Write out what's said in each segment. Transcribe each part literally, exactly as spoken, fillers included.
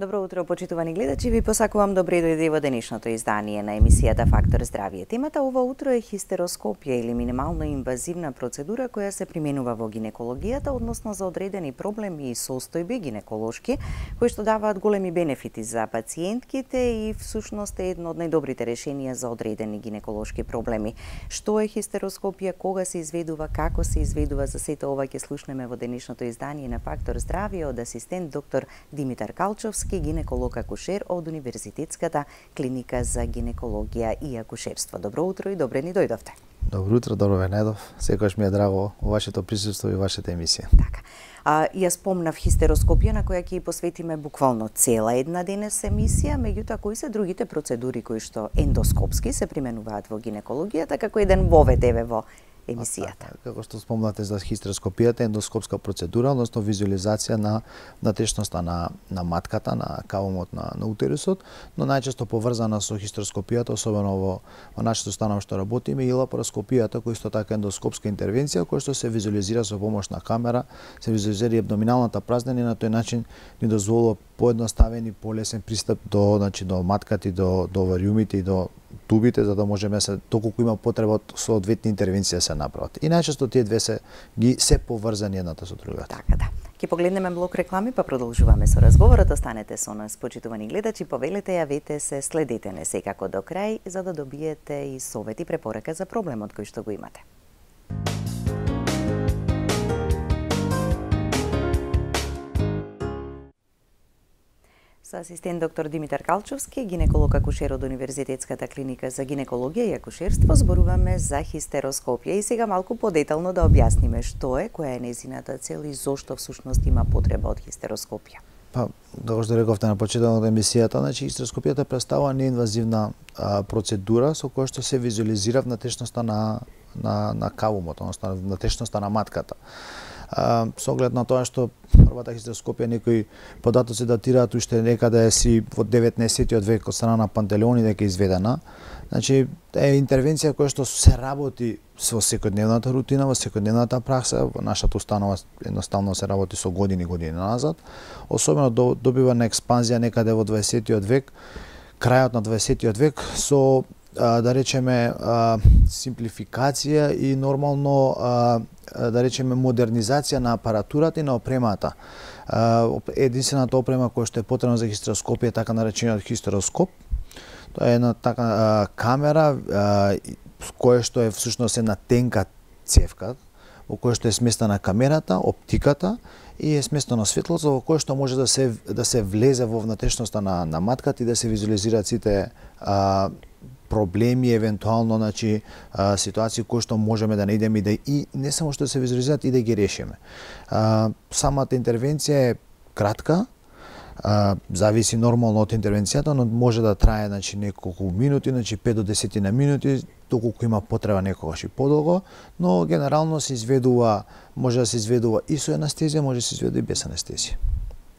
Добро утро, почитувани гледачи, ви посакувам добре дојде во денешното издание на емисијата Фактор здравје. Темата ова утро е хистероскопија или минимално инвазивна процедура која се применува во гинекологијата, односно за одредени проблеми и состојби гинеколошки, кои што даваат големи бенефити за пациентките и всушност е едно од најдобрите решенија за одредени гинеколошки проблеми. Што е хистероскопија, кога се изведува, како се изведува, за сето ова ќе слушнеме во денешното издание на Фактор здравје од асистент доктор Димитар Калчовски, гинеколог акушер од Универзитетската клиника за гинекологија и акушерство. Добро утро и добре ни дојдовте. Добро утро, добро ве најдов. Секогаш ми е драго вашето присуство и вашата емисија. Така. А, ја спомнав хистероскопија на која ќе ја посветиме буквално цела една денес емисија, меѓутоа кои се другите процедури кои што ендоскопски се применуваат во гинекологијата како еден вовед еве во емисијата. Како што спомнате за хистероскопијата, ендоскопска процедура, односно визуализација на натешноста на на матката, на кавумот на, на утерусот, но најчесто поврзана со хистероскопијата, особено во, во нашето станово што работиме, и лапароскопијата, кој исто така ендоскопска интервенција, која што се визуализира со помош на камера, се визуализира и абдоминалната празнина и на тој начин ни дозволува поедноставен и полесен пристап до, значи, до матката и до, до овариумите и до тубите, за да можеме се доколку има потреба од соодветни интервенции да се направат. И најчесто тие две се ги се поврзани едната со другата. Така да. Ќе погледнеме блок реклами, па продолжуваме со разговорот. Останете со нас, почитувани гледачи, повелете, јавете се, следете не секако до крај, за да добиете и совети, препорака за проблемот кој што го имате. Со асистент доктор Димитар Калчовски, гинеколог акушер од Универзитетската клиника за гинекологија и акушерство, зборуваме за хистероскопија и сега малку подетално да објасниме што е, која е нејзината цел и зошто всушност има потреба од хистероскопија. Па, како што рековте на почетокот на емисијата, значи хистероскопијата представува неинвазивна а, процедура со која што се визуализира внатрешноста на на на кавумот, односно внатрешноста на матката. Uh, со оглед на тоа што првата хистероскопија некои податоци датираат уште некаде си во деветнаесеттиот век од страна на Пантелеони дека изведена. Значи е интервенција која што се работи со секојдневната рутина, во секојдневната пракса, во нашата установа едноставно се работи со години години назад. Особено до, добива на експанзија некаде во дваесеттиот век, крајот на дваесеттиот век со да речеме симплификација и нормално да речеме модернизација на апаратурата и на опремата. Единствената опрема која што е потребна за хистероскопија е така наречениот хистероскоп. Тоа е една така камера која што е всушност една тенка цевка во која што е сместена камерата, оптиката и е сместено светлото во кое што може да се да се влезе во внатрешноста на на матката и да се визуализираат сите а, проблеми, евентуално, значи, а, ситуации кои што можеме да наидеме и да и не само што се визуализираат и да ги решиме. А, самата интервенција е кратка, а, зависи нормално од интервенцијата, но може да трае, значи, неколку минути, значи пет до десет на минути, доколку има потреба некогаш и подолго, но генерално се изведува, може да се изведува и со анестезија, може да се изведува и без анестезија.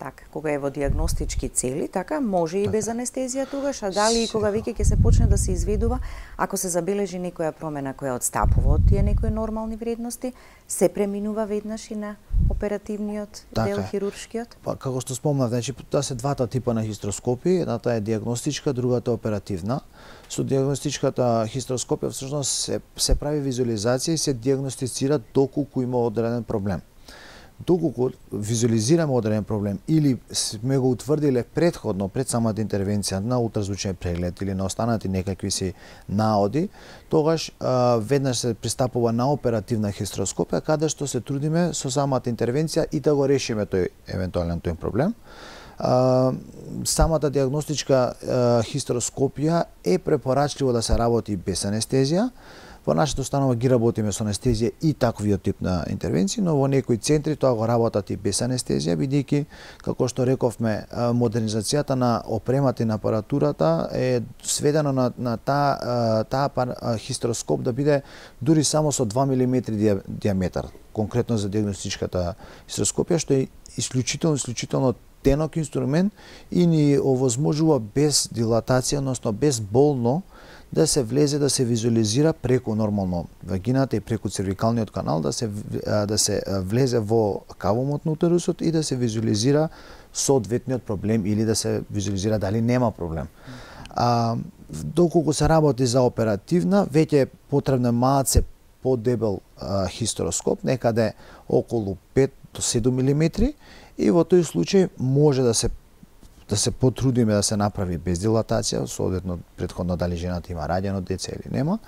Така, кога е во диагностички цели, така, може и без анестезија тогаш, а дали и кога веќе ќе се почне да се изведува, ако се забележи некоја промена која одстапува од тие некои нормални вредности, се преминува веднаш и на оперативниот така дел, хируршкиот? Па, како што спомнав, значи, тоа се двата типа на хистероскопија, едната е диагностичка, другата е оперативна. Со диагностичката хистероскопија всушност се, се прави визуализација и се диагностицира доколку има одреден проблем. Доколку визуализираме одреден проблем или сме го утврдиле претходно, пред самата интервенција на ултразвучен преглед или на останати некакви си наоди, тогаш а, веднаш се пристапува на оперативна хистероскопија, каде што се трудиме со самата интервенција и да го решиме тој евентуален тој проблем. А, самата диагностичка а, хистероскопија е препорачливо да се работи без анестезија. Во нашата установа ги работиме со анестезија и таквиот тип на интервенции, но во некои центри тоа го работат и без анестезија, бидејќи, како што рековме, модернизацијата на опремата и на апаратурата е сведена на, на таа та хистероскоп да биде дури само со два милиметри диаметар, конкретно за диагностичката хистероскопија, што е исклучително, исклучително тенок инструмент и ни овозможува без дилатација, односно без болно, да се влезе, да се визуализира преку нормално вагината и преку цервикалниот канал, да се да се влезе во кавумот на утерусот и да се визуализира соодветниот проблем или да се визуализира дали нема проблем. А, доколку се работи за оперативна, веќе е потребно малце подебел а, хистероскоп, некаде околу пет до седум милиметри, и во тој случај може да се да се потрудиме да се направи без дилатација, соодветно претходно дали жената има раѓено деце или нема,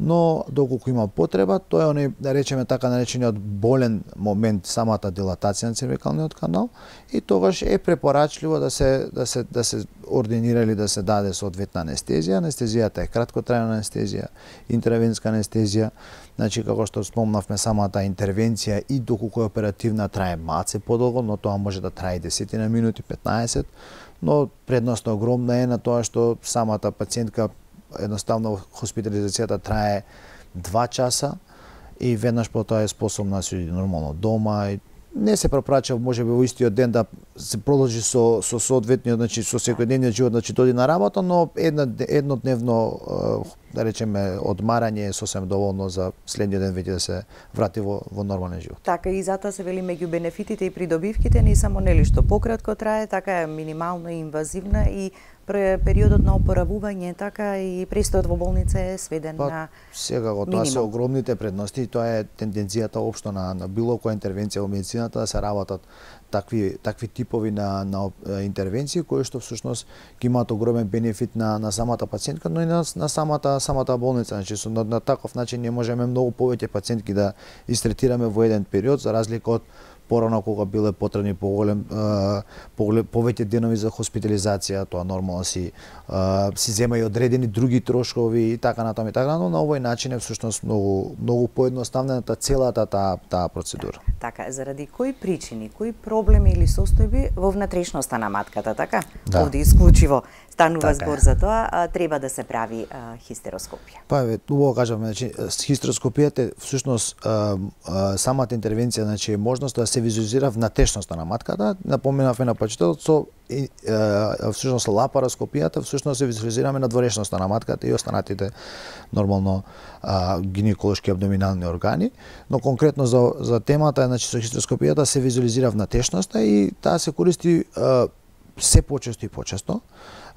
но доколку има потреба, тоа е оној, да речеме така наречениот болен момент, самата дилатација на цервикалниот канал, и тогаш е препорачливо да се да се да се ординира или да се даде соодветна анестезија. Анестезијата е краткотрајна анестезија, интравенска анестезија, значи како што спомнавме, самата интервенција и доколку е оперативна трае малце подолго, но тоа може да трае десетина минути, петнаесет, но предноста огромна е на тоа што самата пациентка едноставно хоспитализацијата трае два часа и веднаш по тоа е способна да се иде нормално дома и не се препрача можеби во истиот ден да се продолжи со со соодветниот, значи со секојдневниот живот, значи дојде на работа, но една еднодневно, да речеме, одмарање е сосем доволно за следниот ден веќе да се врати во во нормален живот. Така и затоа се вели меѓу бенефитите и придобивките не само нели што пократко трае, така е минимално и инвазивна и периодот на опоравување, така и престојот во болница е сведен па, на секако, тоа се огромните предности и тоа е тенденцијата општо на, на било која интервенција во медицината, да се работат такви такви типови на на интервенции кои што всушност ги имаат огромен бенефит на на самата пациентка, но и на, на самата самата болница. Значи со на, на таков начин не можеме многу повеќе пациентки да истретираме во еден период, за разлика од порано кога биле потребни поголем поголем повеќе денови за хоспитализација, тоа нормално си си зема и одредени други трошкови и така натаму и така, но на овој начин е всушност многу многу поедноставнета целата таа таа процедура. Така, заради кои причини, кои проблеми или состојби во внатрешноста на матката, така? Да. Овде исклучиво станува така збор за тоа, а, треба да се прави а, хистероскопија. Па ве, убаво кажавме, значи хистероскопијата всушност а, а, самата интервенција, значи е можност да се визуализира внатрешноста на матката. Напоменавме на почетокот со и, а, всушност лапароскопијата, всушност се визуализираме надворешноста на матката и останатите нормално а, гинеколошки абдоминални органи, но конкретно за за темата, значи со хистероскопијата се визуализира внатрешноста и таа се користи а, се почесто и почесто.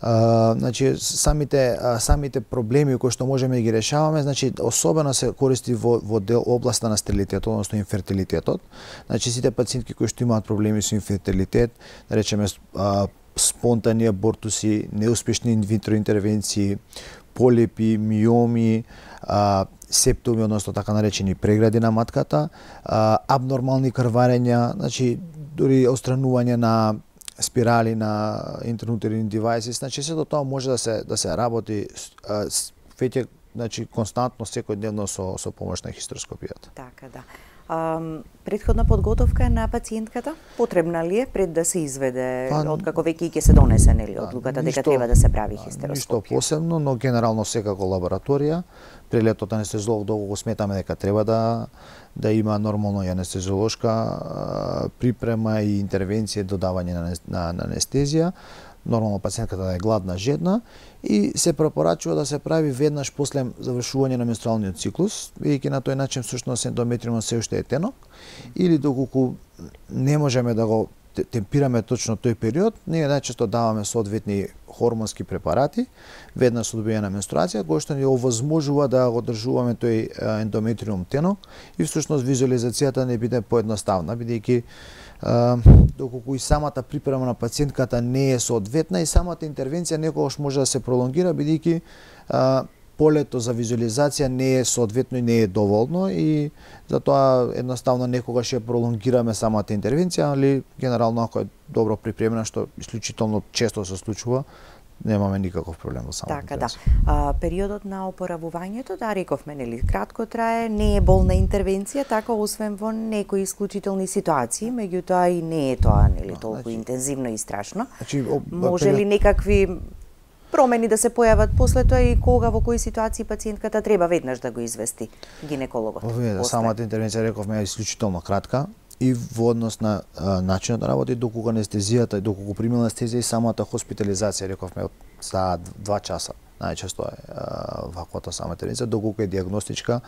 Uh, значи самите uh, самите проблеми кои што можеме да ги решаваме, значи особено се користи во во дел областа на стерилитетот, односно инфертилитетот. Значи сите пациентки кои што имаат проблеми со инфертилитет, да речеме uh, спонтани абортуси, неуспешни инвитро интервенции, полипи, миоми, uh, септоми, односно така наречени прегради на матката, uh, абнормални крварења, значи дури отстранување на спирали на интернутерини девајси, значи сето тоа може да се да се работи веќе, значи константно секојдневно со со помош на хистероскопијата. Така да. Um, предходна подготовка на пациентката потребна ли е пред да се изведе, па, откако веќе ќе се донесе нели одлуката дека треба да се прави хистероскопија? Ништо посебно, но генерално секако лабораторија. Прегледот анестезиолог доколку сметаме дека треба да да има нормално и анестезиолошка припрема и интервенција, додавање на, на, на анестезија, нормално пациентката да е гладна, жедна и се препорачува да се прави веднаш после завршување на менструалниот циклус, бидејќи на тој начин всушност ендометриумот се уште е тенок, или доколку не можеме да го темпираме точно тој период, ние најчесто даваме соодветни хормонски препарати веднаш со добијање на менструација, кои што ни овозможува да го одржуваме тој ендометриум тенок и всушност визуализацијата не биде поедноставна, бидејќи доколку и самата припрема на пациентката не е соодветна и самата интервенција некогаш може да се пролонгира, бидејќи полето за визуализација не е соодветно и не е доволно и затоа едноставно некогаш ја пролонгираме самата интервенција, али генерално ако е добро припремена, што исклучително често се случува, немаме никаков проблем во самата така, интервенција. Така да. А, периодот на опоравувањето, да рековме, нели, кратко трае, не е болна интервенција, така освен во некои исклучителни ситуации, меѓутоа и не е тоа нели толку значи, интензивно и страшно. Значи, об... може ли некакви промени да се појават после тоа и кога во кои ситуации пациентката треба веднаш да го извести гинекологот? Овие да, самата интервенција рековме е исклучително кратка и во однос на а, начинот на работа, доколку анестезијата, доколку примила анестезија и самата хоспитализација рековме за два часа. најчесто е ваквата сама интервенција, доколку е дијагностичка,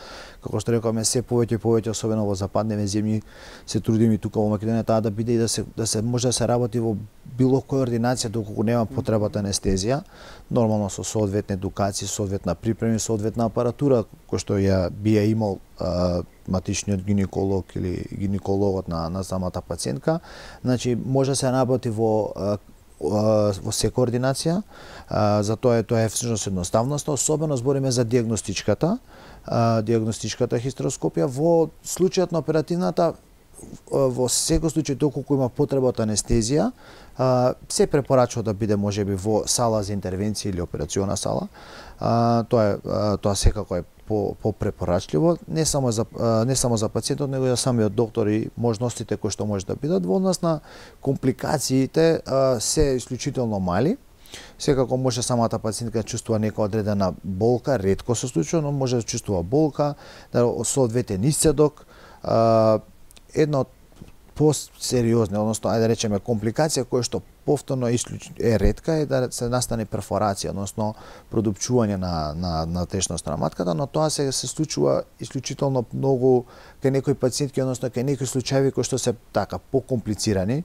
како што рековме, се повеќе и повеќе, особено во западневе земји, се трудиме и тука во Македонија таа да биде и да се да се може да се работи во било која ординација доколку нема потребата анестезија, нормално со соодветна едукација, соодветна припрема, соодветна апаратура кој што ја би ја имал а, матичниот гинеколог или гинекологот на на самата пациентка, значи може да се работи во а, во секоја ординација, затоа е тоа е всушност едноставноста, особено збориме за дијагностичката, дијагностичката хистероскопија. Во случајот на оперативната, во секој случај доколку има потреба од анестезија, се препорачува да биде можеби во сала за интервенција или операциона сала. Тоа е тоа секако е по попрепорачливо, не само за не само за пациентот, него и за самиот доктор и можностите кои што може да бидат. Во однос на компликациите се исклучително мали. Секако може самата пациентка да чувствува нека одредена болка, ретко се случува, но може да чувствува болка, да соодветен исцедок, една од посериозни, односно ајде да речеме компликација која што повторно е ретка е да се настане перфорација, односно продупчување на на на течноста на матката, но тоа се се случува исклучително многу кај некои пациентки, односно кај некои случаи кои што се така покомплицирани.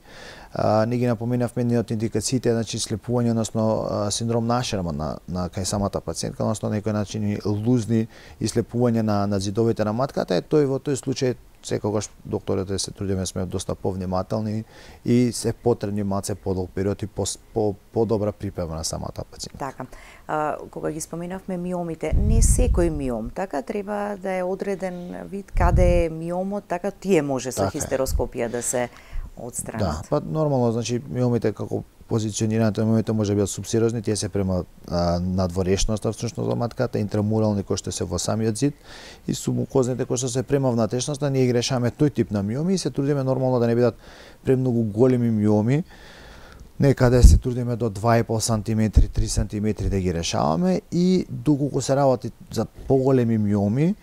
А, не ги напоменавме ни од индикациите, значи слепување, односно синдром на Ашерман на на кај самата пациентка, односно некои начини лузни и слепување на на зидовите на матката, е тој во тој случај секогаш докторите се трудиме сме доста повнимателни и се потребни малце подолг период и по, по, по-добра припрема на самата пациентка. Така. А, кога ги споменавме миомите, не секој миом, така треба да е одреден вид каде е миомот, така тие може со така хистероскопија да се отстранат. Да, па нормално, значи миомите како позиционирањето на миомите може да бидат субсерозни, тие се према а, надворешноста всушност во матката, интрамурални кои што се во самиот зид и субмукозните кои што се према внатрешноста. Ние ги решаваме тој тип на миоми и се трудиме нормално да не бидат премногу големи миоми. Некаде се трудиме до два и пол сантиметри, три сантиметри да ги решаваме и доколку се работи за поголеми миоми,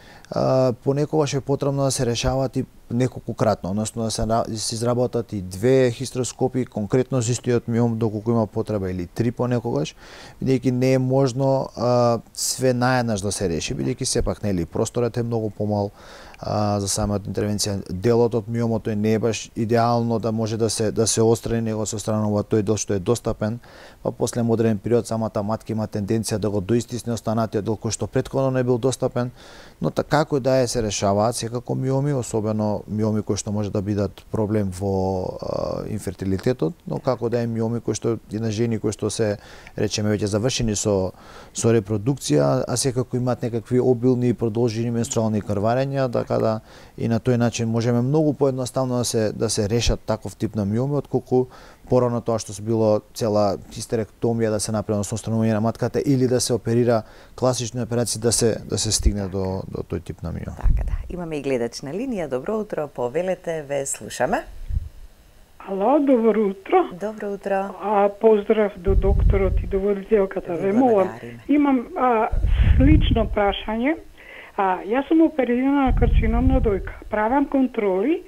понекогаш е потребно да се решават и неколку кратно, односно да се, се изработат и две хистероскопи конкретно за истиот миом доколку има потреба или три понекогаш, бидејќи не е можно а, све наеднаш да се реши, бидејќи сепак нели просторот е многу помал а, за самата интервенција. Делот од миомот е не е баш идеално да може да се да се отстрани, него се отстранува тој дел што е достапен, па после модерен период самата матка има тенденција да го доистисне останатиот дел кој што претходно не бил достапен, но така како да е се решаваат секако миоми, особено миоми кои што може да бидат проблем во а, инфертилитетот, но како да е миоми кои што и на жени кои што се речеме веќе завршени со со репродукција, а секако имаат некакви обилни и продолжени менструални крварења, така да и на тој начин можеме многу поедноставно да се да се решат таков тип на миоми отколку порано тоа што се било цела хистеректомија да се направи со отстранување на матката или да се оперира класични операции да се да се стигне до до тој тип на миом. Така да. Имаме и гледач на линија. Добро утро, повелете, ве слушаме. Ало, добро утро. Добро утро. А, поздрав до докторот и до водителката. Ве молам, имам а, слично прашање. А, јас сум оперирана на карцином на дојка. Правам контроли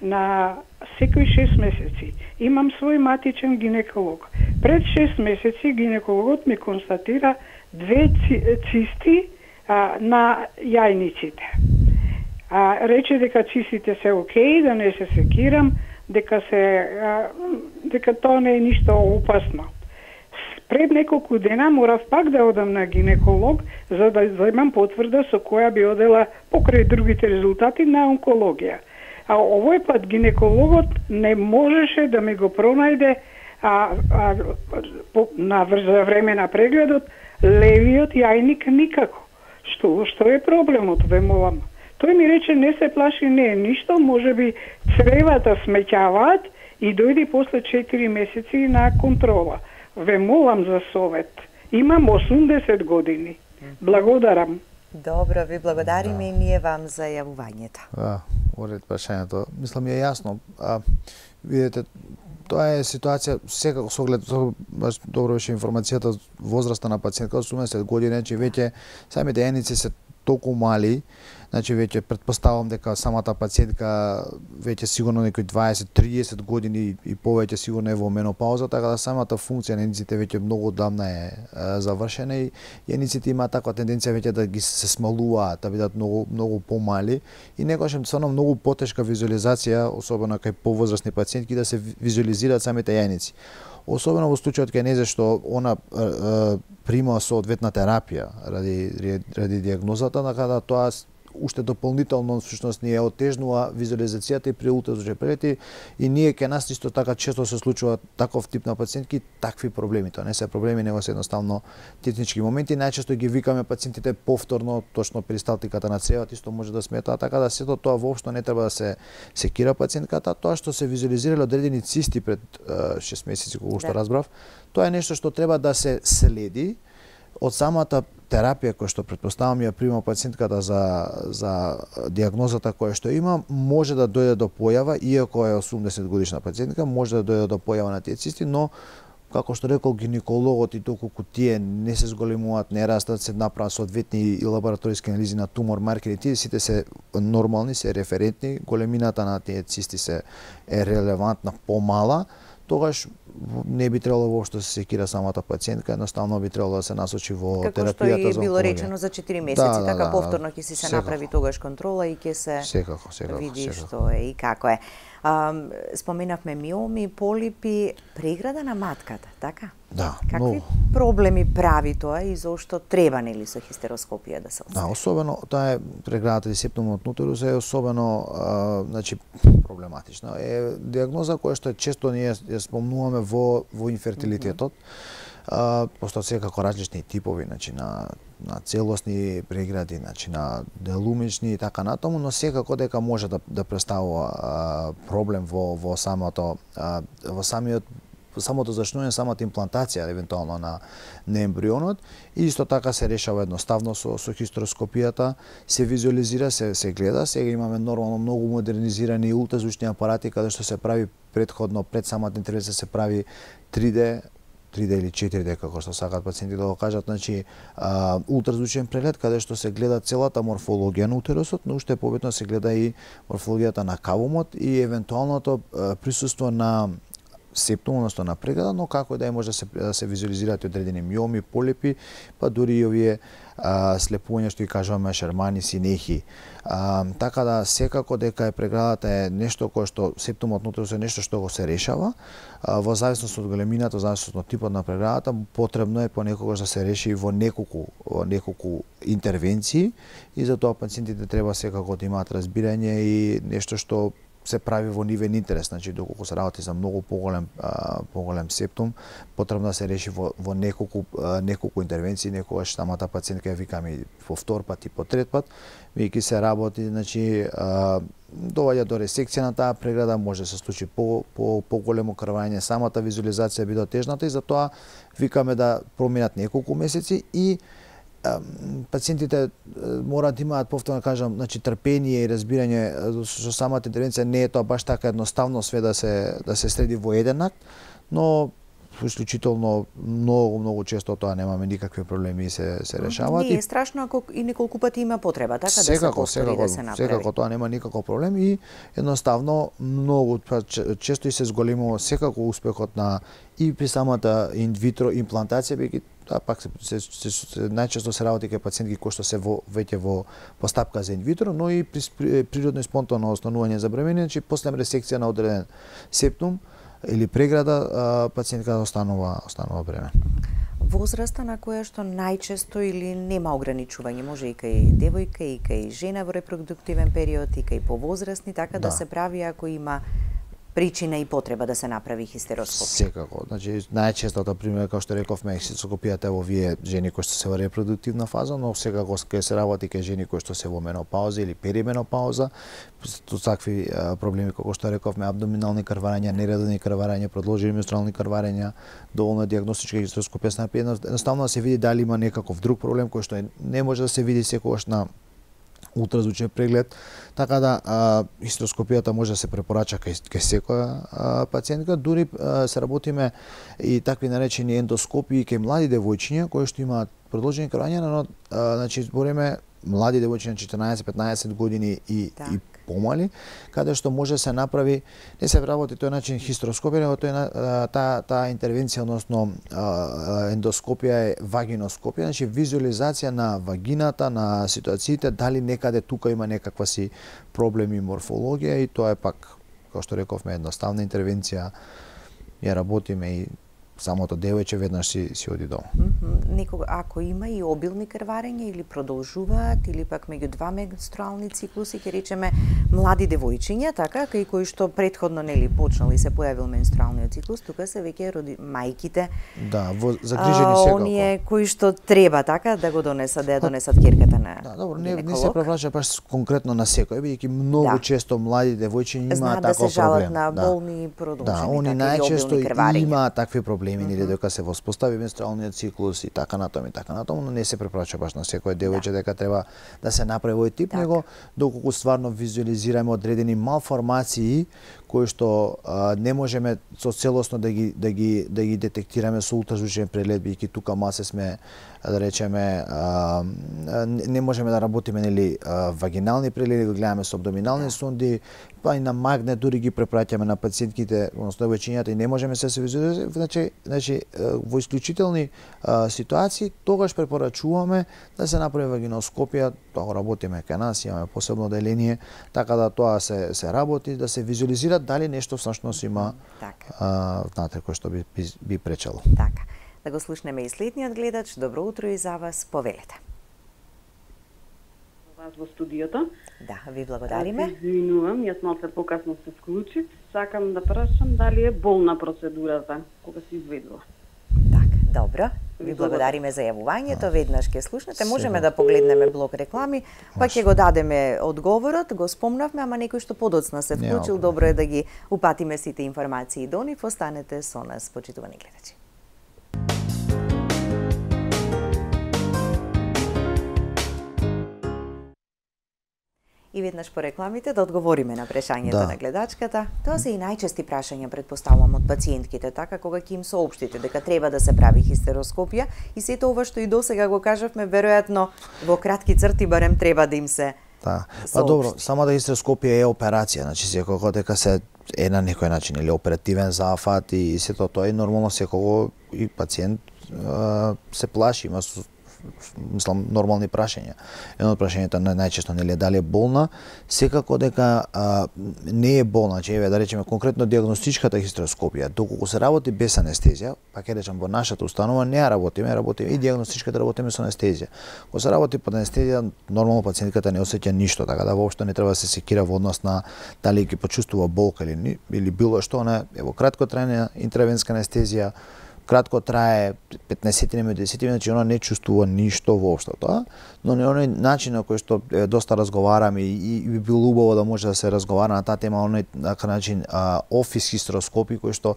на секои шест месеци. Имам свој матичен гинеколог. Пред шест месеци гинекологот ми констатира две цисти а, на јајниците. А, рече дека цистите се окей, да не се секирам, дека се а, дека тоа не е ништо опасно. Пред неколку дена морав пак да одам на гинеколог за да земам потврда со која би одела покрај другите резултати на онкологија. А овој пат гинекологот не можеше да ми го пронајде а, а, по, на за време на прегледот левиот јајник никако. Што што е проблемот, ве молам? Тој ми рече не се плаши, не е ништо, можеби цревата смеќаваат и дојди после четири месеци на контрола. Ве молам за совет. Имам осумдесет години. Благодарам. Добро, ви благодариме да. И ние вам за јавувањето. Да, уред прашањето. Мислам е јасно. А, видете, тоа е ситуација секако со оглед баш добро беше информацијата возраста на пациентка од осумдесет години, че веќе самите јајници се толку мали Значи веќе претпоставам дека самата пациентка веќе сигурно некои дваесет до триесет години и повеќе сигурно е во менопауза, така да самата функција на ениците веќе многу одамна е, е завршена и ениците има таква тенденција веќе да ги се смалуваат, да бидат многу многу помали и некогаш е стварно многу потешка визуализација, особено кај повозрасни пациентки, да се визуализираат самите јајници. Особено во случајот кај незе што она е, е, прима соодветна терапија ради ради дијагнозата, така да тоа уште дополнително всушност ни е отежнува визуализацијата и при ултразвучни прегледи и ние кај нас исто така често се случува таков тип на пациентки такви проблеми. Тоа не се проблеми, него се едноставно технички моменти. Најчесто ги викаме пациентите повторно, точно при сталтиката на цревот исто може да сметаа, така да сето тоа воопшто не треба да се секира пациентката. Тоа што се визуализирале одредени цисти пред шест месеци, кога што разбрав, тоа е нешто што треба да се следи од самата терапија која што претпоставам ја прима пациентката за за дијагнозата која што има, може да дојде до појава, иако е осумдесет годишна пациентка, може да дојде до појава на тие цисти, но како што рекол гинекологот и доколку тие не се зголемуваат, не растат, се направат соодветни и лабораториски анализи на тумор маркери, тие сите се нормални, се референтни, големината на тие цисти се е релевантна помала, тогаш не би требало воопшто да се секира самата пациентка, едноставно би требало да се насочи во како терапијата за онкологија. Како што и било речено за четири месеци, да, да, така да, повторно ќе си се секако направи тогаш контрола и ќе се секако, секако, види секако. што е и како е. А, споменавме миоми, полипи, преграда на матката, така? Да, Какви но... проблеми прави тоа и зошто треба нели со хистероскопија да се остави? Да, особено таа е преградата или септумот нутерус е особено а, значи проблематична. Е дијагноза која што често ние ја спомнуваме во во инфертилитетот. Mm -hmm. а, постојат секако различни типови, значи на на целосни прегради, значи на делумични и така натаму, но секако дека може да да представува а, проблем во во самото а, во самиот самото зачнување, самата имплантација евентуално на на ембрионот и исто така се решава едноставно со со хистероскопијата, се визуализира, се се гледа. Сега имаме нормално многу модернизирани ултразвучни апарати каде што се прави претходно пред самата интервенција се прави три Д три Д или четири Д како што сакаат пациенти да го кажат, значи а, ултразвучен преглед каде што се гледа целата морфологија на утерусот, но уште побитно се гледа и морфологијата на кавумот и евентуалното а, присуство на септум, односно на преграда, но како и да е може да се, да се визуализираат одредени миоми, полипи, па дури и овие а, слепувања што ги кажуваме шермани, синехи. А, така да секако дека е преградата е нешто кое што септумот нутрус е нешто што го се решава, а, во зависност од големината, во зависност од типот на преградата, потребно е понекогаш да се реши во неколку во неколку интервенции и затоа пациентите треба секако да имаат разбирање и нешто што се прави во нивен интерес, значи доколку се работи за многу поголем а, поголем септум, потребно да се реши во во неколку а, неколку интервенции, некогаш самата пациентка ја викаме по втор пат и по трет пат, веќе се работи, значи а, доваѓа до ресекција на таа преграда, може да се случи по по поголемо крвање, самата визуализација би дотежната и затоа викаме да проминат неколку месеци и пациентите мораат да имаат, повторно кажам, значи трпение и разбирање со самата интервенција, не е тоа баш така едноставно све да се да се следи во еден акт, но исклучително многу многу често тоа немаме никакви проблеми и се се решаваат. Не е страшно ако и неколку пати има потреба, така секако, да се повтори, секако, да се направи. Секако тоа нема никаков проблем и едноставно многу често и се зголемува секако успехот на и при самата инвитро имплантација, бидејќи тоа пак се, се, се, се најчесто се работи кај пациентки кои што се во веќе во постапка за инвитро, но и при, при природно и спонтано останување за бремење, значи после ресекција на одреден септум или преграда, пациентка останува останува бремен. Возраста на која што најчесто или нема ограничување, може и кај девојка и кај жена во репродуктивен период и кај повозрастни, така да, да се прави ако има причина и потреба да се направи хистероскопија. Секако, значи најчестото пример како што рековме хистероскопијата во овие жени кои што се во репродуктивна фаза, но секако кај се работи кај жени кои што се во менопауза или перименопауза, со такви проблеми како што рековме абдоминални крварења, нередовни крварења, продолжени менструални крварења, доволно дијагностичка хистероскопија се направи, едноставно да се види дали има некаков друг проблем кој што не може да се види секогаш на ултразвучен преглед, така да а, хистероскопијата може да се препорача кај, кај секоја а, пациентка, дури а, се работиме и такви наречени ендоскопии кај млади девојчиња кои што имаат продолжени крварења, но а, значи збориме млади девојчиња на четинаесет-петнаесет години и так. и помали, каде што може се направи, не се работи тој начин хистероскопија, него тој таа таа интервенција, односно ендоскопија е вагиноскопија, значи визуализација на вагината, на ситуациите, дали некаде тука има некаква си проблеми морфологија, и тоа е пак, како што рековме, едноставна интервенција, ја работиме и самото девојче веднаш си си оди дома. Mm -hmm. Некога, ако има и обилни крварења или продолжуваат, или пак меѓу два менструални циклуси, ќе речеме млади девојчиња, така, кај кои што претходно нели почнал и се појавил менструалниот циклус, тука се веќе роди мајките. Да, во загрижени секако. Оние кои што треба така да го донесат, да ја донесат керката на. Да, добро, не, не се превраќа баш конкретно на секој, бидејќи многу да. често млади девојчиња имаат таков проблем. Да се жалат на болни продолжени, да, они така, најчесто имаат такви проблеми, Mm -hmm. или дека се воспостави менструалниот циклус и така натаму и така натаму, но не се препорача баш на секој девојче да. дека треба да се направи овој тип, так. него доколку стварно визуализираме одредени малформации кои што а, не можеме со целосно да ги да ги да ги детектираме со ултразвучен преглед, бидејќи тука масе сме, да речеме, а, не можеме да работиме нели вагинални прегледи, го гледаме со абдоминални да. сонди, па и на магнет дури ги препраќаме на пациентките, односно девојчињата, и не можеме се се визуализираме. Значи, значи во исклучителни а, ситуации тогаш препорачуваме да се направи вагиноскопија, тоа го работиме кај нас, имаме посебно деление, така да тоа се се работи, да се визуализира дали нешто всушност има така. а, внатре кој што би, би, би пречело. Така. Да го слушнеме и следниот гледач. Добро утро и за вас, повелете. Вас во студиото. Да, ви благодариме. Извинувам, јас малце покасно се вклучив. Сакам да прашам дали е болна процедурата кога се изведува. Така, добро. Ви благодариме за јавувањето. Веднаш ќе слушнете. Можеме да погледнеме блок реклами, па ќе го дадеме одговорот. Го спомнавме, ама некој што подоцна се вклучил, добро е да ги упатиме сите информации до нив. Останете со нас, почитувани гледачи. И веднаш по рекламите да одговориме на прашањето да. на гледачката. Тоа се и најчести прашања, предпоставувам, од пациентките, така, кога ќе им соопштите дека треба да се прави хистероскопија, и сето ова што и досега го кажавме, веројатно во кратки црти барем треба да им се Да. Па добро, самата хистероскопија е операција, значи секако дека се е на некој начин или оперативен зафат и сето тоа, и нормално секако и пациент а, се плаши, има мислам нормални прашања. Едно од прашањата најчесто нели е дали е болна, секако дека а, не е болна, значи еве да речеме конкретно дијагностичката хистероскопија, доколку се работи без анестезија, па ќе речам во нашата установа не ја работиме, работиме и дијагностичката работиме со анестезија. Кога се работи под анестезија, нормално пациентката не осеќа ништо, така да воопшто не треба да се секира во однос на дали ќе почувствува болка или или било што, на ево краткотрајна интервенска анестезија, кратко трае петнаесет минути, десет минути, значи она не чувствува ништо воопшто тоа, но не оној начин на кој што е, доста разговараме и, и би било убаво да може да се разговара на таа тема, оној така начин а, офис хистероскопи кој што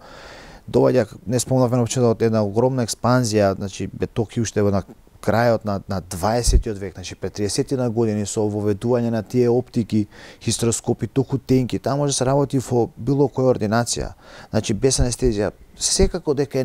доаѓа, не спомнавме воопшто од една огромна експанзија, значи Токио уште на крајот на на дваесетиот век, значи пред триесет години со воведување на тие оптики, хистероскопи толку тенки, таа може да се работи во било која ординација, значи без анестезија. Секако дека е,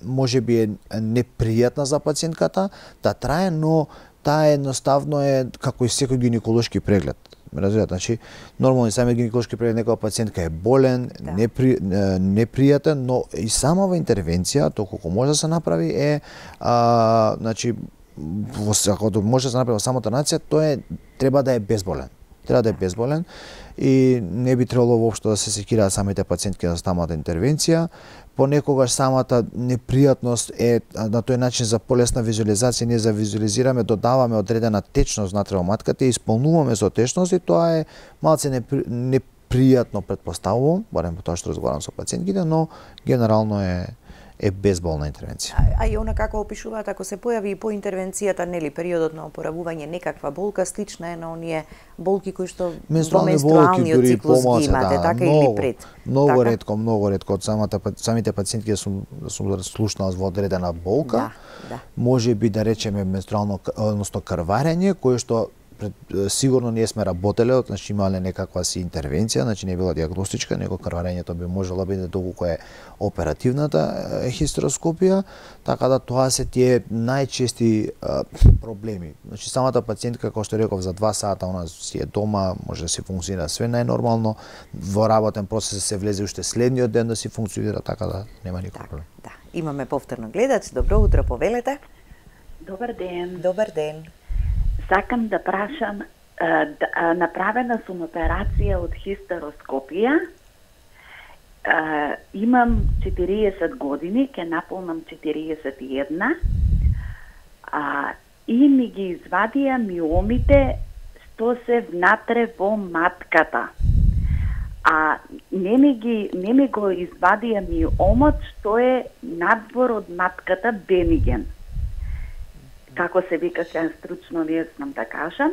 може би е непријатна за пациентката да трае, но таа едноставно е како и секој гинеколошки преглед. Разбирате, значи нормално самиот гинеколошки преглед некоја пациентка е болен, да. непри, непријатен, но и самава интервенција, доколку може да се направи е а, значи во ако може да се направи во самата нација, тоа е треба да е безболен. Треба да е безболен и не би требало воопшто да се секираат самите пациентки за самата интервенција. Понекогаш самата непријатност е на тој начин за полесна визуализација, ние за визуализираме, додаваме одредена течност внатре во матката и исполнуваме со течност, и тоа е малце непри, непријатно, предпоставувам, барем по тоа што разговарам со пациентките, но генерално е е безболна интервенција. А, а и она како опишуваат, ако се појави и по интервенцијата, нели, периодот на опоравување, некаква болка слична е на оние болки кои што во менструалниот циклус ги имате, да, така многу, или пред? Многу така? ретко, многу ретко од самата самите пациентки сум сум слушнал во одредена болка. Да, да. Може би да речеме менструално, односно крварење, кое што пред, сигурно ние сме работеле, значи имале некаква си интервенција, значи не била диагностичка, него крварењето би можело биде доколку е оперативната хистероскопија, така да тоа се тие најчести а, проблеми. Значи самата пациентка, како што реков, за два сата она си е дома, може да си функционира све најнормално, во работен процес се влезе уште следниот ден да си функционира, така да нема никој проблем. Да, имаме повторно гледач. Добро утро, повелете. Добар ден. Добар ден. Сакам да прашам, да, направена сум операција од хистероскопија. Имам четириесет години, ке наполнам четириесет и една. А, и ми ги извадија миомите што се внатре во матката. А не ми, ги, не ми го извадија миомот што е надвор од матката, бениген. Како се вика, сега стручно не знам да кажам.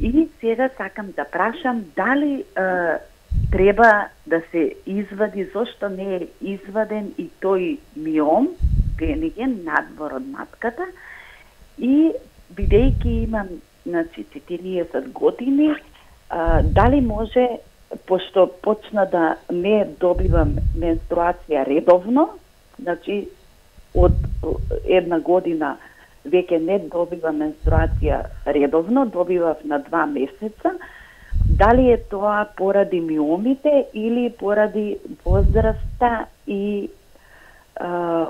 И сега сакам да прашам дали е, треба да се извади, зошто не е изваден и тој миом, бениген, надвор од матката. И бидејќи имам, значи, четириесет години, а, дали може, пошто почна да не добивам менструација редовно, значи од една година веќе не добивам менструација редовно, добивав на два месеца, дали е тоа поради миомите или поради возраста и а,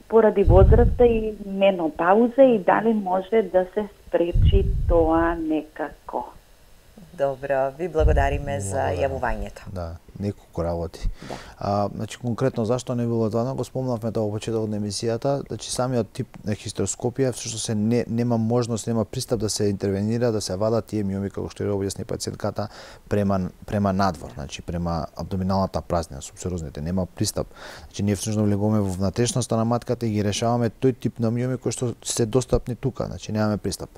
поради возраста и менопауза и дали може да се спречи тоа некако. Добро, ви благодариме за јавувањето. Да, неколку работи. Да. А, значи конкретно зашто не било тоа, го спомнавме тоа во почетокот на емисијата, значи самиот тип на хистероскопија всушност се не, нема можност, нема пристап да се интервенира, да се вадат тие миоми како што ја објасни пациентката према према надвор, значи према абдоминалната празнина, субсерозните, нема пристап. Значи ние всушност влегуваме во внатрешноста на матката и ги решаваме тој тип на миоми кои што се достапни тука, значи немаме пристап.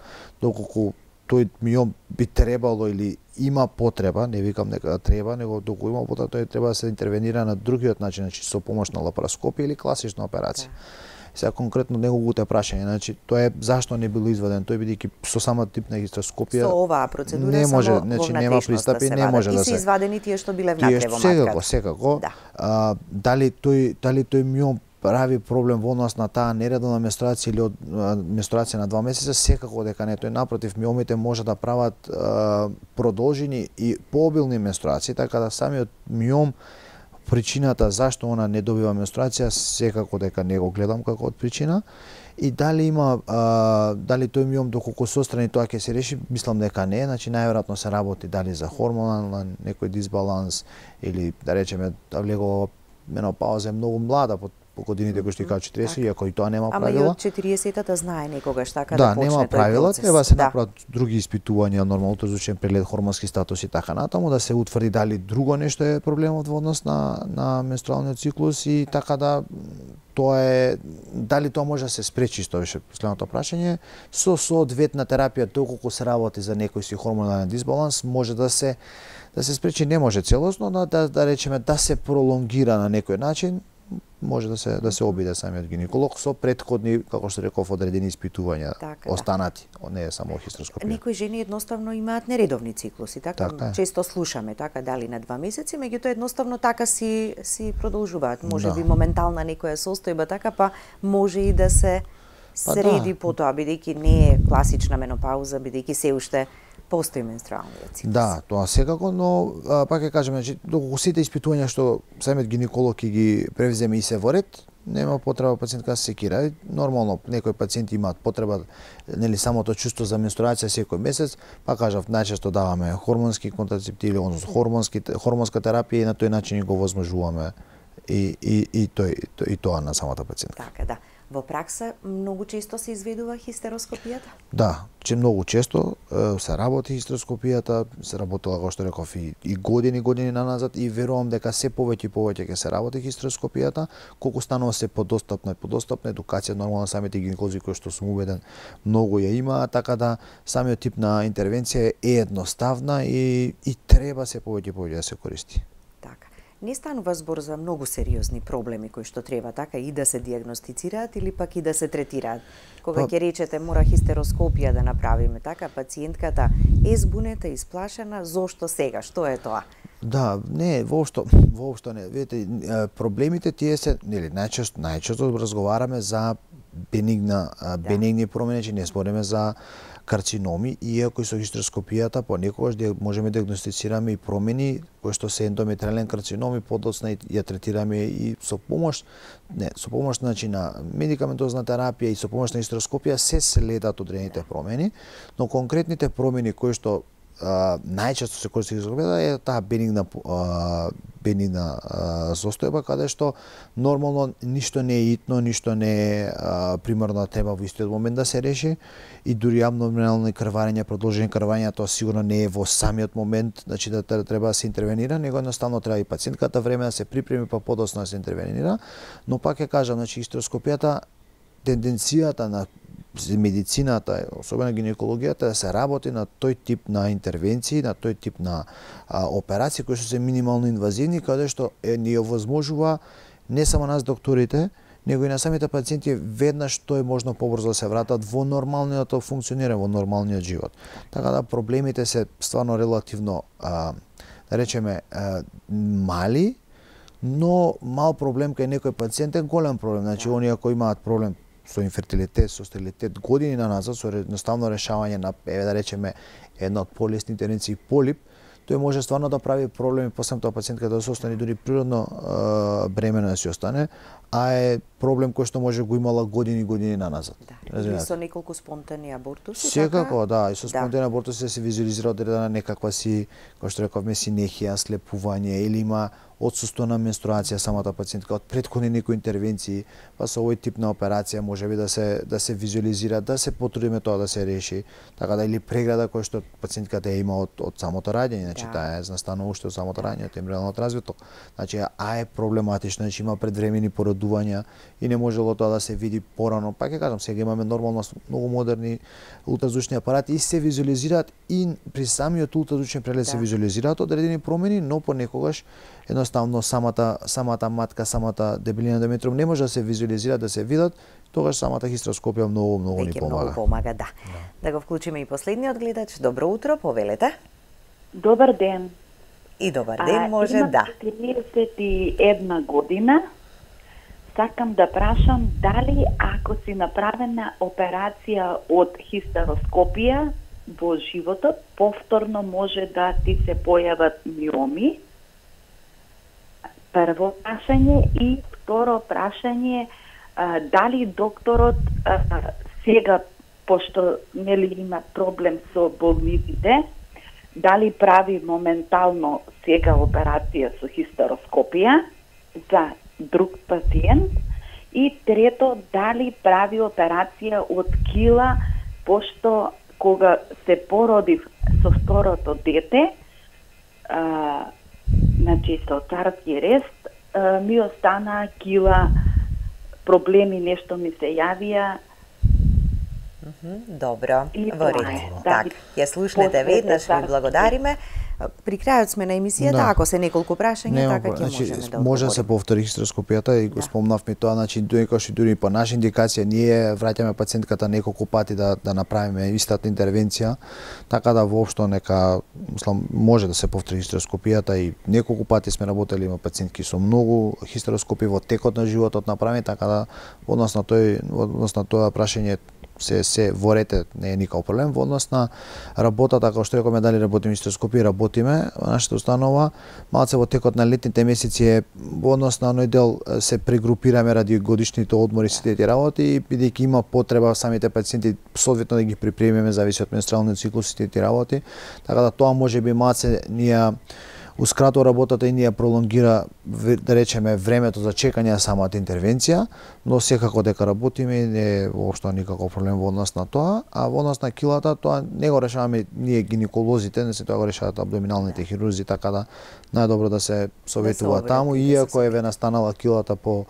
Доколку тој миом би требало или има потреба, не викам дека треба, него доколку има потреба, тој треба да се интервенира на другиот начин, значи со помош на лапароскопија или класична операција. Да. Сега конкретно неговото прашање, значи тоа е зашто не било изваден, тој бидејќи со самата тип на хистероскопија со оваа процедура не може, само значи во нема пристап и не може да се. И се извадени тие што биле внатре во матката. Секако, секако. Да. А, дали тој дали тој миом прави проблем во однос на таа нередовна менструација или од менструација на два месеца, секако дека не, тој напротив, миомите може да прават а, продолжени и пообилни менструации, така да самиот миом, причината зашто она не добива менструација, секако дека не го гледам како од причина. И дали има а, дали тој миом доколку се отстрани тоа ќе се реши, мислам дека не, значи најверојатно се работи дали за хормонален некој дисбаланс или да речеме да влегува менопауза е многу млада по по годините кои што и кажа четириесет, иако и тоа нема правила. Ама и од четириесетата знае некогаш така да, да почне нема правила, процес. треба да се да. направат други испитувања, нормално ултразвучен преглед, хормонски статус и така натаму, да се утврди дали друго нешто е проблемот во однос на на менструалниот циклус и така да тоа е дали тоа може да се спречи, што беше последното прашање, со соодветна терапија, доколку се работи за некој си хормонален дисбаланс, може да се да се спречи, не може целосно, но да да речеме да се пролонгира на некој начин, може да се да се обиде самиот гинеколог со претходни, како што реков, одредени испитувања, така, останати, не е само хистероскопија. Некои жени едноставно имаат нередовни циклуси, така, така често слушаме така дали на два месеци, меѓутоа едноставно така си си продолжуваат. Може да. би моментална некоја состојба така, па може и да се среди па, да. потоа, бидејќи не е класична менопауза, бидејќи се уште постои менструалниот циклус. Да, тоа секако, но а, пак ќе кажеме, значи доколку сите испитувања што самиот гинеколог ги превземе и се во ред, нема потреба пациентка да се секира. Нормално некои пациенти имаат потреба, нели самото чувство за менструација секој месец, па кажав најчесто даваме хормонски контрацептиви, односно хормонски хормонска терапија и на тој начин го возможуваме и и и тој и тоа на самата пациентка. Така да. Во пракса многу често се изведува хистероскопијата? Да, че многу често е, се работи хистероскопијата, се работела, како што реков, и, и години години наназад и верувам дека се повеќе и повеќе ќе се работи хистероскопијата, колку станува се подостапна и подостапна едукација, нормално самите гинеколози кои што сум убеден многу ја имаат, така да самиот тип на интервенција е едноставна и и треба се повеќе и повеќе да се користи. не станува збор за многу сериозни проблеми кои што треба така и да се диагностицираат или пак и да се третираат. Кога ќе речете мора хистероскопија да направиме така, пациентката е збунета, исплашена, зошто сега, што е тоа? Да, не, воопшто, воопшто не. Видите, проблемите тие се, нели, најчесто, најчесто разговараме за бенигна, да. бенигни промени, че не збориме за карциноми, иако и со хистероскопијата понекогаш можеме да диагностицираме и промени кои што се ендометриален карцином и подоцна ја третираме и со помош, не, со помош значи на медикаментозна терапија и со помош на хистероскопија се следат одредените промени, но конкретните промени кои што Uh, најчесто се користи хистероскопијата е таа бенигна uh, бенигна uh, состојба каде што нормално ништо не е итно, ништо не е uh, примерно треба во истиот момент да се реши и дури абнормални крварења, продолжени крварења, тоа сигурно не е во самиот момент, значи да треба да се интервенира, него едноставно треба и пациентката време да се припреми па подоцна да се интервенира, но пак ќе кажам, значи хистероскопијата тенденцијата на медицината, особено гинекологијата, да се работи на тој тип на интервенции, на тој тип на а, операции кои што се минимално инвазивни, каде што е, ни овозможува не само нас докторите, него и на самите пациенти веднаш тоа е можно побрзо да се вратат во нормалниот функционирање, во нормалниот живот. Така да проблемите се стварно релативно, а, да речеме, а, мали, но мал проблем кај некој пациент е голем проблем. Значи, оние кои имаат проблем со инфертилитет, со стерилитет години на назад, со едноставно решавање на, еве да речеме, една од полесни интервенции полип, тој може стварно да прави проблеми, после тоа пациентката да се остане дури природно е, бремена да си остане, а е проблем кој што може го имала години и години на назад. Да. И со неколку спонтани абортуси, секако, така? Да, и со спонтани да. абортуси се визуализира одредена некаква си, кој што рековме, синехија, слепување или има отсуство на менструација самата пациентка од претходни некои интервенции, па со овој тип на операција можеби да се да се визуализира, да се потрудиме тоа да се реши, така да или преграда која што пациентката е има од од самото раѓање, значи да. Таа е настанува уште од самото раѓање, од ембрионалното развиток. Значи а е проблематично, значи има предвремени породувања и не можело тоа да се види порано. Пак ќе кажам, сега имаме нормално многу модерни ултразвучни апарати и се визуализираат и при самиот ултразвучен преглед да. Се визуализираат одредени промени, но понекогаш едноставно самата самата матка, самата дебелина ендометриум не може да се визуализира, да се видат, тогаш самата хистероскопија многу многу ни помага. Многу помага, да. да. Да го вклучиме и последниот гледач. Добро утро, повелете. Добар ден. И добар ден, а, може имам да. четириесет и една година. Сакам да прашам дали ако си направена операција од хистероскопија во животот, повторно може да ти се појават миоми. Прво прашање и второ прашање, а, дали докторот а, сега, пошто нели има проблем со болниците, дали прави моментално сега операција со хистероскопија за друг пациент и трето, дали прави операција од кила, пошто кога се породив со второто дете, а, значи со царски рест, а, ми остана кила, проблеми нешто ми се јавија. Добро, во ред. Да, так, ја слушнете веднаш, ви благодариме. При крајот сме на емисијата, да. Ако се неколку прашања, така ќе значи, можеме да може да се повтори хистероскопијата и го да. Спомнавме тоа, значи доекаш и дури по наша индикација ние враќаме пациентката неколку пати да да направиме истата интервенција, така да воопшто нека мислам може да се повтори хистероскопијата и неколку пати сме работели, има пациентки со многу хистероскопии во текот на животот направени, така да во однос на тој во однос на тоа прашање се се во рете не е никаков проблем. Во однос на работата, како што рековме, дали работиме хистероскопија, работиме во нашата установа. Малце во текот на летните месеци е во однос на оној дел се прегрупираме ради годишните одмори сите тие работи и бидејќи има потреба самите пациенти соодветно да ги припремиме зависи од менструалниот циклус сите тие работи. Така да тоа можеби малце ние ускратува работата и ни ја пролонгира, да речеме, времето за чекање на самата интервенција, но секако дека работиме и не е воопшто никаков проблем во однос на тоа, а во однос на килата тоа не го решаваме ние гинеколозите, не се тоа го решаваат абдоминалните хирурзи, така да најдобро да се советува да таму, иако еве настанала килата по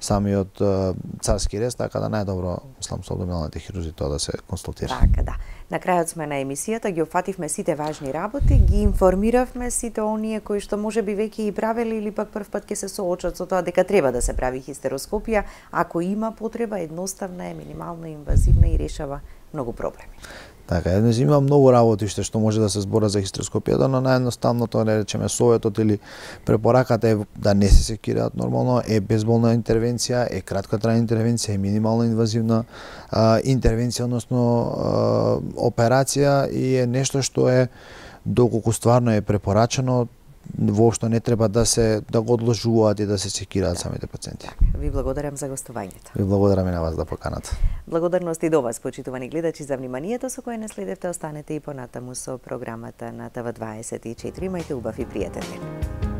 самиот uh, царски рест, така да најдобро, мислам, со абдоминалните хирурзи тоа да се консултира. Така, да. На крајот сме на емисијата, ги опфативме сите важни работи, ги информиравме сите оние кои што можеби веќе и правели или пак прв пат ќе се соочат со тоа дека треба да се прави хистероскопија, ако има потреба, едноставна е, минимално инвазивна и решава многу проблеми. Така, еднаш има многу работи што може да се збора за хистероскопијата, но наједноставното, не речеме, советот или препораката е да не се секираат нормално, е безболна интервенција, е краткотрајна интервенција, е минимално инвазивна а, интервенција, односно а, операција, и е нешто што е, доколку стварно е препорачено, воопшто не треба да се да го одложуваат и да се секираат самите пациенти. Така, ви благодарам за гостувањето. Ви благодарам и на вас да поканата. Благодарности до вас, почитувани гледачи, за вниманието со кое не следевте. Останете и понатаму со програмата на Т В дваесет и четири. Имајте убав и пријатен ден.